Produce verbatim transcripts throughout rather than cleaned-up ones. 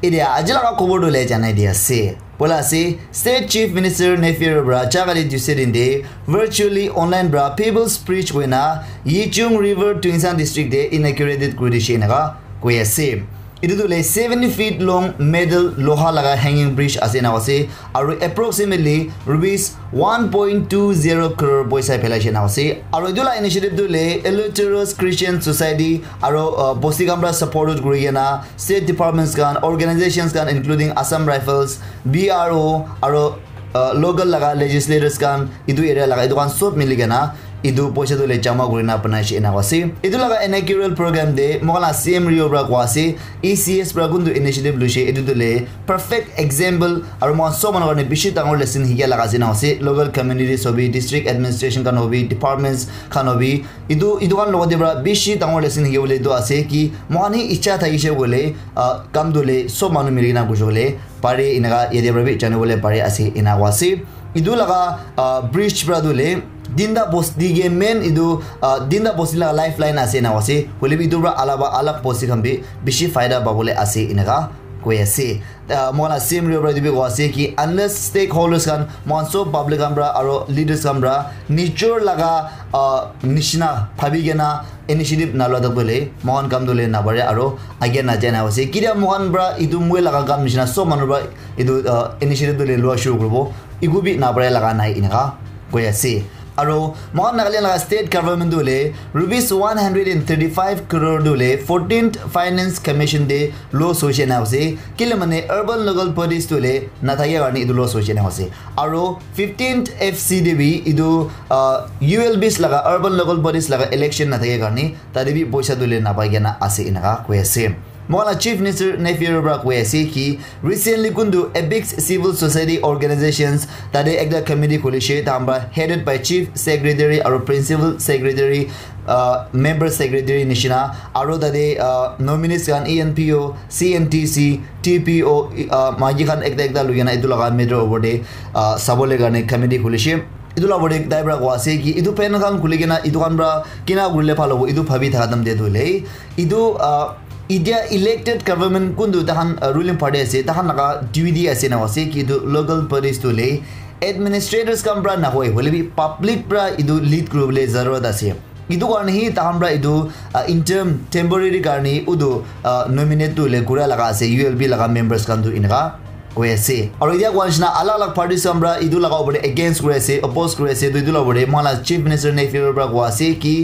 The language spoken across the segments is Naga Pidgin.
Etia aji laga khobor tu le janai di ase. Poila ase, State Chief Minister Neiphiu Rio para jagale Tuesday din te virtually online para People's Bridge koina Yichung River Tuensang District te inaugurated kuri dishe enaka koi ase. Etu tu le seventy feet long metal loha laga hanging bridge ase enaka ase. Aru approximately rupees one point two zero crore poisa phelaishe enaka ase. Aru etu la initiative tu le Eleutherios Christian Society aru uh, bosti khan para supported kuri kena state departments khan, organizations khan including Assam Rifles, B R O aru uh, local laga legislators khan, etu area laga etu khan sob mili kena etu poisa tu le jama kuri na banai she enaka ase. Etu laga inaugural program te moikhan la C M Rio para koa ase, E C S para kuntu initiative luishe etu tu le perfect example aru moikhan sob manu karne bishi dangor lesson hikia laga ase enaka ase. Local communities hobi, district administration khan hobi, departments khan hobi, etu etu khan logote para bishi dangor lesson hikibole etu ase ki moikhan hi icha thakishe koile uh, kam tu le sob manu mili kena kurishe koile pare enaka yate para bi janibole pare ase enaka ase. Etu laga uh, bridge para tu le tinta bosti ke main etu uh, tinta bosti laga lifeline ase enaka ase. Hoile bi etu para alaba alag bosti khan bi bishi faida pabole ase enaka koi ase. Uh, moikhan la C M Rio para etu bi koi ase ki unless stakeholders khan, moikhan sob public khan para aru leaders khan para nijor laga uh, nishina bhabi kena initiative nalua tak tu le moikhan kam tu le nabare aru age najai enaka ase. Kitia moikhan para etu moi laga kam nishina sob manu para etu uh, initiative tu le lua shuru kuribo, eku bi nabare laga nai enaka koi ase. Aru moikhan Nagaland laga state government tu le rupees one hundred and thirty five crore tu le fourteenth Finance Commission te loss hoishe enaka ase. Kile mane urban local bodies tu le nathakia karne etu loss hoishe enaka ase. Aru fifteenth F C te bi etu uh, U L Bs laga urban local bodies laga election nathakia karne tate bi poisa tu le napai kena ase enaka koi ase. Moikhan la Chief Minister Neiphiu Rio para koi ase ki recently kuntu Apex Civil Society Organizations tate ekta committee khulishe, tahan para headed by Chief Secretary aru Principal Secretary, uh, Member Secretary nishina aru tate uh, nominees khan E N P O, C N T C, T P O, uh, maiki khan ekta ekta loi kena etu laga matter opor te uh, sabole karne committee khulishe. Etu la opor te tai para koi ase ki etu panel khan khuli kena etu khan para kina kurile bhal hobo etu bhabi thaka time te tu le etu uh, India elected government kuntu tahan uh, ruling party ase, tahan laga duty ase na ase ki etu local bodies tu le administrators khan para nahoi, hoile bi public para etu lead kuribole zarurat ase. Etu karne hi tahan para etu uh, interim temporary karne utu uh, nominate tu le kura laga ase, U L B laga members khan tu enaka koi ase. Aru etia koa nishina alag alag parties khan para etu laga opor te against kuri ase, oppose kuri ase, tu etu laga opor te moikhan la Chief Minister Neiphiu Rio para koi ase ki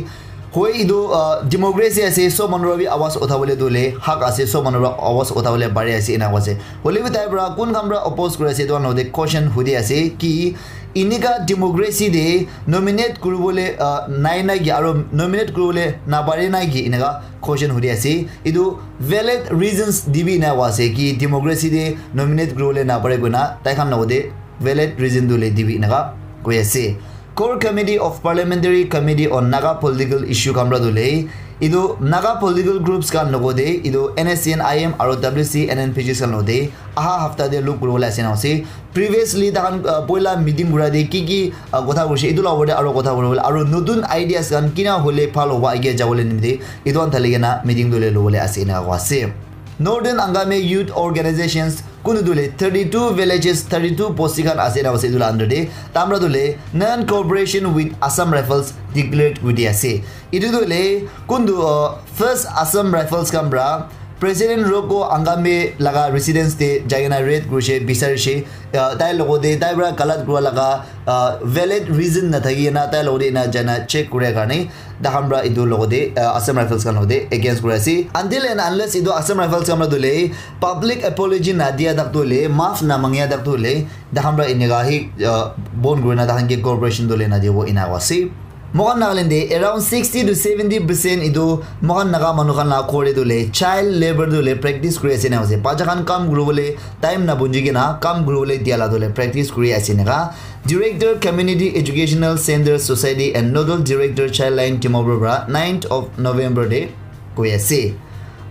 hoi etu uh, democracy ase, sob manu para bi awaz uthabole tu le hak ase, sob manu para awaz uthabole pari ase enaka koi ase. Hoile bi tai para kun khan para oppose kuri ase etu khan logote question hudi ase ki enika democracy te nominate kuribole uh, nai na ki aru nominate kuribole napare na ki enaka question hudi ase. Etu valid reasons dibi enaka koi ase ki democracy te nominate kuribole napare koina tai khan logote valid reason tu le dibi enaka koi ase. Core Committee of Parliamentary Committee on Naga Political Issue khan para tu le etu Naga political groups khan logote etu N S C N I M aru W C N N P G khan logote aha hafta te log kuribole ase na ase. Previously tahan uh, poila meeting kura te ki ki uh, kotha kurishe etu la opor te aro kotha kuribole aro notun ideas khan kina hole bhal hobo age jabole nimite etu khan thali kena meeting tu le lobole ase enaka koi ase. Northern Angami Youth Organizations kunu tu le thirty two villages, thirty two bosti khan ase enaka ase etu la under te tamra tu le non cooperation with Assam Rifles declared kuri di ase. Etu tu le kuntu uh, first Assam Rifles khan pra President Roko Angame laga residence te jai kena raid kurishe, bisarishe, uh, tai logote tai pra galat kura laga uh, valid reason nathaki kena tai logote ena jaina check kure karne takhan pra etu logote uh, Assam Rifles khan logote against kuri ase. Until and unless etu Assam Rifles khan pra tu le public apology nadia tak tu le, maaf namangia tak tu le, takhan pra eneka hi uh, bon kurina takhan ke cooperation tu le nadibo ena ase. Moikhan Nagaland te around sixty to seventy percent etu moikhan Naga manu khan la ghor te tu le child labor tu le practice kuri ase na ase. Bacha khan kam kuribole time na bunji kena kam kuribole dia la tu le practice kuri ase naka. Director Community Educational Center Society and Nodal Director Childline Dimapur pra ninth of November te koi ase.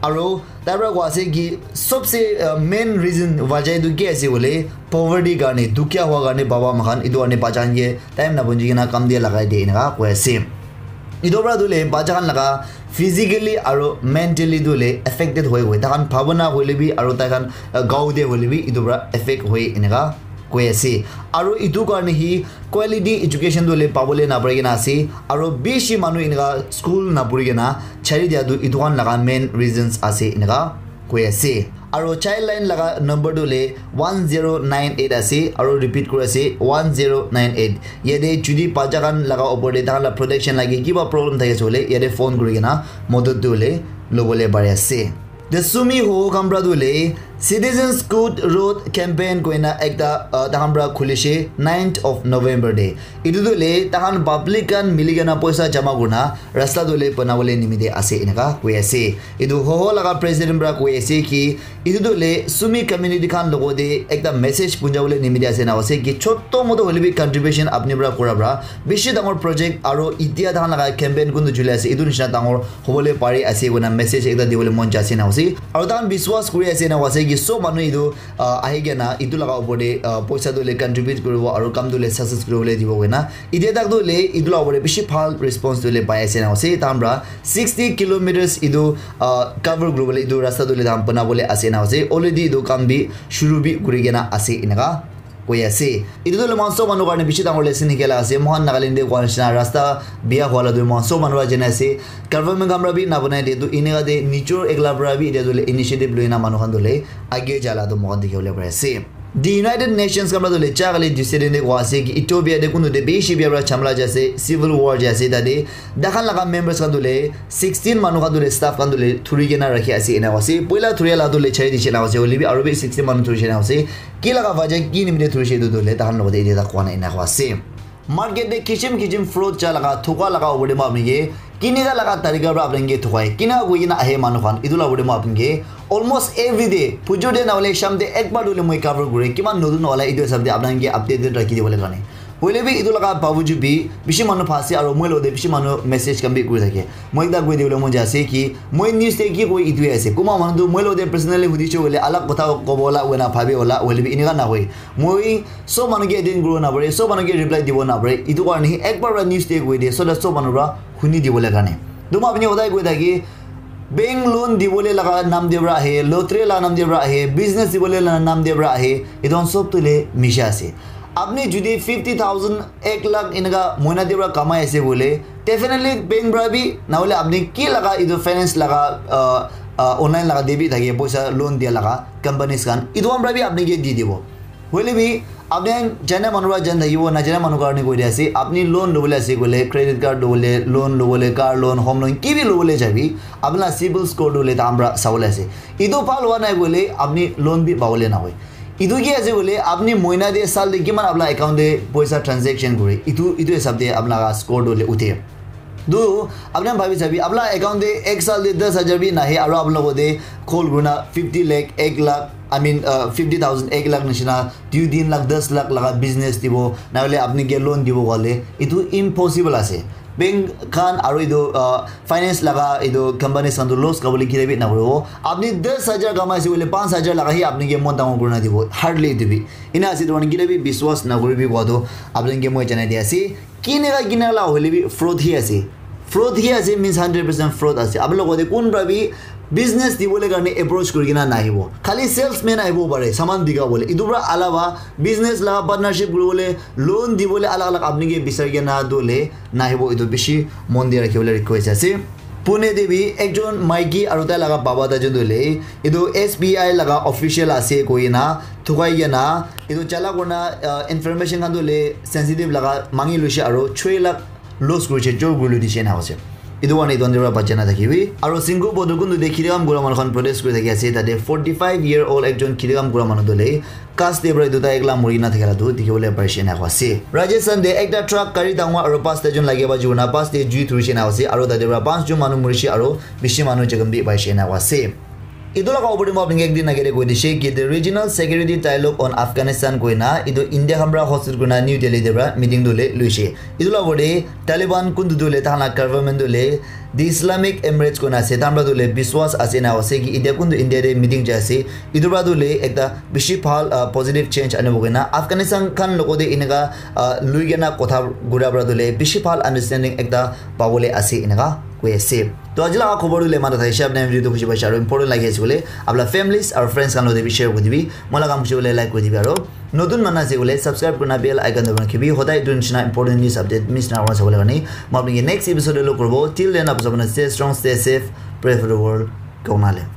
Aro tai pra koi ase ki sobse uh, main reason wajah etu ki ase koile poverty karne, dukhiya hua karne baba moikhan etu karne bacha khan ke time na bunji kena kam dia lagai de eneka koi ase. Etu para tu le bacha khan laga physically aro mentally tu le affected hoi hoi, tai khan bhabana hoile bi aro tai khan, uh, gao te hoile bi etu para affect hoi eneka koi ase. Aro etu karne hi quality education tu le pabole napari kena ase, aro bishi manu eneka school napuri kena chari dia tu etu khan laga main reasons ase eneka koi ase. Aro child line laga number tu le one zero nine eight ase, aro repeat kuri ase, one zero nine eight. Yate judi bacha khan laga opor te tai khan la protection lage, kiba problem thaki ase hoile yate phone kuri kena modot tu le lobole pari ase. The Sumi Hoho Kamra tu le Citizens Good Road Campaign koina ekta, uh, tai khan para khulishe ninth of November te. Etu tu le tai khan public khan mili kena poisa jama kurna rasta tu le banabole nimite ase eneka koi ase. Etu Hoho laga president para koi ase ki etu tu le Sumi community khan logo te ekta message punjabole nimite ase na ase ki choto moto hoile bi contribution apni para kura para bishi dangor project aro itia tai khan laga campaign kuntu juli ase etu nishina dangor hobole pari ase koina message ekta dibole mon jai ase na ase. Aro tai khan biswas kuri ase na ase ki sob manu etu, ah, ahi kena etu laga opor te, ah, poisa tu le contribute kuribo aro kam tu le success kuribole dibo koina. Itia tak tu le etu laga opor te bishi bhal response tu le pai ase na ase. Tai khan para sixty kilometers etu, ah, cover kuribole etu rasta tu le tai khan banabole ase na ase. Already etu kam bi shuru bi kuri kena ase eneka koi ase. Etu tu le moikhan sob manu karne bishi dangor lesson hikila ase. Moikhan Nagaland te koa nishina rasta biya hua la tu moikhan sob manu para jana ase. Government khan para bi nabanai de tu eneka de nijor ekla para bi etia tu le initiative loina manu khan tu le age jala tu moikhan dikhi bole pari ase. The United Nations khan para tu le cha kali dissident de koa ase ki Ethiopia de kuntu de bishi biya para chamla jai ase, civil war jai ase tate. Dakhan laga members khan tu le sixteen manu khan tu le staff khan tu le thuri kena rakhi ase ena koa ase. Poila thuria la tu le chai di chena koa ase. Hoile bi aro bi sixteen manu thuri chena koa ase. Ki laga wajah ki nimite thurishe etu tu le tahan logote etia tak koa nai ena koa ase. Market te kichim kichim fraud cha laga, thoka laga opor te moi apni ke kinika laga tarika para apni ke thokai. Kina koi kena ahe manu khan, etu laga opor te moi apni ke almost every day, phujur te na hoile sham te ek bar hoile moi cover kure. Kiman notun wala etu hisab te apni ke updated rakhi dibole karne. Hoile bi etu laga bawajud bi bishi manu phase aro moi logote bishi manu message khan bi kuri thake. Moi ekta koi dibole mon jai ase ki moi news te ki koi etu he ase. Kunba manu tu moi logote personally hudishe hoile alag kotha kobo la hoina bhabi hola, hoile bi enika na hoi. Moi sob manu ke attend kuribo napare, sob manu ke reply dibo napare. Etu karne hi ek bar para news te koi de, so that sob manu para huni dibole karne. To moi apni hodai koi thaki, bank loan dibole laga nam de para ahe, lottery laga nam de para ahe, business dibole laga nam de para ahe, etu khan sob tu le misha ase. Apni jodi fifty thousand, ek lakh enika mohina de para kamai ase bole, definitely bank para bi, na hole apni ki laga etu finance laga, uh, uh, online laga de bi thake, poisa loan dia laga companies khan, etu khan para bi apni ke di dibo. Hoile bi apni khan jana manu para jan thakibo, najana manu karne koi dia ase. Apni loan lobole ase koile, credit card lobole, loan lobole, car loan, home loan, ki bi lobole jabi, apni la civil score tu hoile tahan para sabole ase. Etu bhal howa nai koile apni loan bi pabole nahoi. Etu ki ase koile apni mohina te, sal te kiman apni la account te poisa transaction kore, etu, etu hisab te apni la score tu hoile uthe. Tu apni khan bhabi sabi, apni la account te ek sal te das hajar bi nahe, aro apni logote call kurina fifty lakh, ek lakh, I mean, uh, fifty thousand, ek lakh nishina, dui tin lakh, das lakh laga business dibo, na hole apni ke loan dibo koile, etu impossible ase. Bank khan aro etu, uh, finance laga etu companies khan tu loss kabole kile bi nakuribo. Apni das hajar kamai ase koile, panch hajar laga hi apni ke mon dangor kurina dibo, hardly dibi. Ena ase, etu karne kile bi biswas nakuribi koa tu apni ke moi janai di ase. Kineka kineka la hoile bi fraud hi ase. Fraud hi ase means hundred percent fraud ase. Apni logote kun para bi business dibole karne approach kuri kena nahibo. Khali salesman ahibo pare, saman bika bole. Etu para alawa business la partnership kuribole, loan dibole alag alag apni ke bisari kena dole nahibo. Etu bishi mon di rakhibole request ase. Pune te bi ekjon maiki aru tai laga baba ta jun tu hoile etu S B I laga official ase koi kena thukai kena etu chala kurna, uh, information khan tu hoile sensitive laga mangi luise aru choi lakh loss kurise, chor kuri loi dise ena ase. Etu karne etu under para bacha na thakibi. Aru Singhu Bodhukun tu de khiri kam kura manu khan protest kuri thaki ase. Tate forty five year old ekjon khiri kam kura manu tu hoile ghas te para etu tai ekla muri na thakila tu dikhi bole parise ena koa ase. Rajasthan te ekta truck gari dangor aru pasta jun lage ba juna bus te jui thurise ena ase aru tate para panch jun manu murise aru bishi manu jokhom bi paise ena koa ase. Etu laga opor te moi apni ke ekdin age te koi dishe ki the regional security dialogue on Afghanistan koina etu India khan para hosted kurina New Delhi te para meeting tu le luishe. Etu laga opor te Taliban kuntu tu le tahan laga government tu le the Islamic Emirates koina ase, tahan para tu le biswas ase na ase ki India kuntu India te meeting jai ase. Etu para tu le ekta bishi bhal, ah, positive change anibo koina Afghanistan khan logo te eneka, ah, lui kena kotha gura para tu le bishi bhal understanding ekta pabole ase eneka koi ase. To aji laga khobor tu le mata thaise, apni video tu khushi paise aru important lagi ase bole apna families aru friends khan lote bi share kuri dibi. Moi laga kam khushi bole like kuri dibi aru notun mana ase bole subscribe kurina bell icon dabai rakhibi. Hodai etu nishina important news update miss na hobole karne moi apni ke next episode te log koribo. Till then, apni sabone stay strong, stay safe, pray for the world. Kong na le.